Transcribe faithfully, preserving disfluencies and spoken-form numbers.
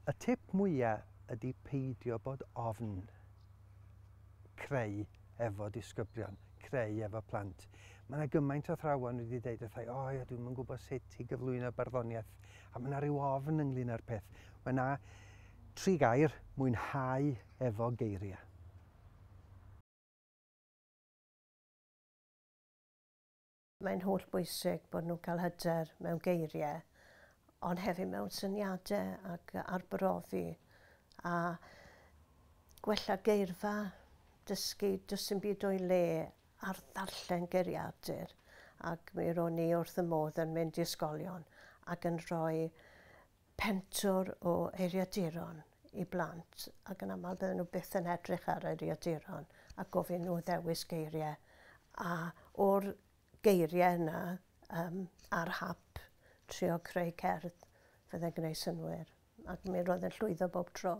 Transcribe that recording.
Y tip mwyaf ydy peidio bod ofn creu efo disgyblion, creu efo plant. Mae yna gymaint o athrawon wedi dweud wrtha i, "O ia, dwi'm yn gwybod sut i gyflwyno barddoniaeth," a mae yna rhyw ofn ynglyn â'r peth. Mae yna tri gair: mwynhau efo geiriau. Mae'n holl bwysig bod nhw'n cael hyder mewn geiriau, ond hefyd mewn syniadau ac arbrofi a gwella geirfa, dysgu, does dim byd o'i le ar ddarllen geiriadur, ac mi ro'n i wrth y modd yn mynd i ysgolion ac yn rhoi pentwr o eiriaduron i blant, ac yn aml bydden nhw byth yn edrych ar eiriaduron a gofyn nhw ddewis geiriau, a o'r geiriau yna um, ar hap trio creu cerdd fydde'n gwneud synnwyr, ac mi roedd yn llwyddo bob tro.